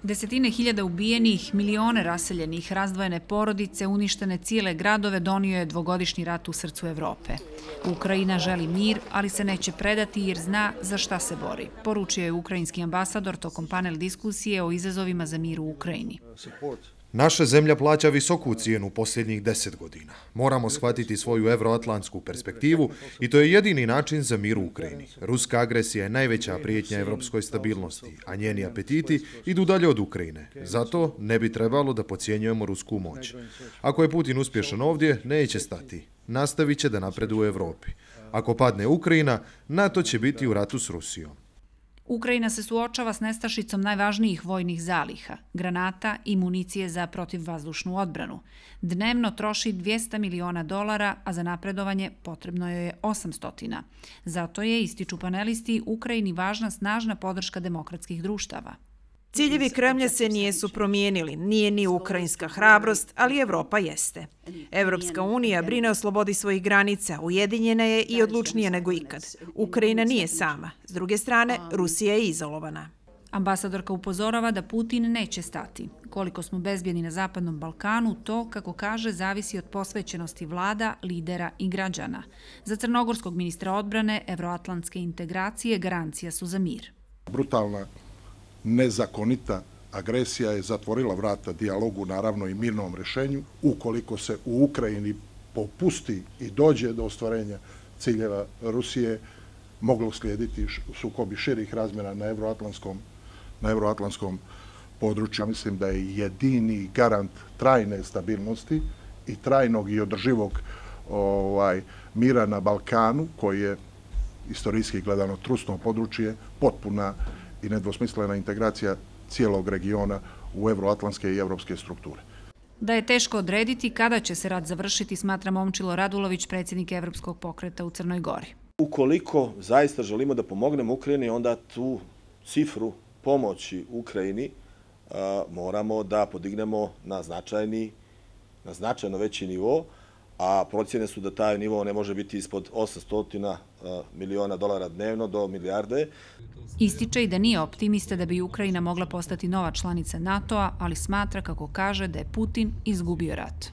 Desetine hiljada ubijenih, milione raseljenih, razdvojene porodice, uništene cijele gradove donio je dvogodišnji rat u srcu Evrope. Ukrajina želi mir, ali se neće predati jer zna za šta se bori, poručio je ukrajinski ambasador tokom panel diskusije o izazovima za mir u Ukrajini. Naša zemlja plaća visoku cijenu posljednjih 10 godina. Moramo shvatiti svoju evroatlantsku perspektivu i to je jedini način za mir u Ukrajini. Ruska agresija je najveća prijetnja evropskoj stabilnosti, a njeni apetiti idu dalje od Ukrajine. Zato ne bi trebalo da podcjenjujemo rusku moć. Ako je Putin uspješan ovdje, neće stati. Nastavit će da napreduje u Evropi. Ako padne Ukrajina, NATO će biti u ratu s Rusijom. Ukrajina se suočava s nestašicom najvažnijih vojnih zaliha, granata i municije za protivvazdušnu odbranu. Dnevno troši $200 miliona, a za napredovanje potrebno joj je 800. Zato je, ističu panelisti, Ukrajini važna snažna podrška demokratskih društava. Ciljevi Kremlja se nijesu promijenili, nije ni ukrajinska hrabrost, ali Evropa jeste. Evropska unija brine o slobodi svojih granica, ujedinjena je i odlučnija nego ikad. Ukrajina nije sama. S druge strane, Rusija je izolovana. Ambasadorka upozorava da Putin neće stati. Koliko smo bezbjedni na Zapadnom Balkanu, to, kako kaže, zavisi od posvećenosti vlada, lidera i građana. Za crnogorskog ministra odbrane, evroatlantske integracije garancija su za mir. Brutalna, nezakonita agresija je zatvorila vrata dijalogu, naravno i mirnom rješenju. Ukoliko se u Ukrajini popusti i dođe do ostvarenja ciljeva Rusije, moglo uslijediti sukobi širih razmjera na evroatlantskom području. Ja mislim da je jedini garant trajne stabilnosti i trajnog i održivog mira na Balkanu, koji je istorijski gledano trusno područje, potpuna i nedvosmislena integracija cijelog regiona u evroatlantske i evropske strukture. Da je teško odrediti kada će se rat završiti, smatra Momčilo Radulović, predsjednik Evropskog pokreta u Crnoj Gori. Ukoliko zaista želimo da pomognemo Ukrajini, onda tu cifru pomoći Ukrajini moramo da podignemo na značajno veći nivo, a procjene su da taj nivo ne može biti ispod $800 miliona dnevno do milijarde. Ističe i da nije optimista da bi Ukrajina mogla postati nova članica NATO-a, ali smatra, kako kaže, da je Putin izgubio rat.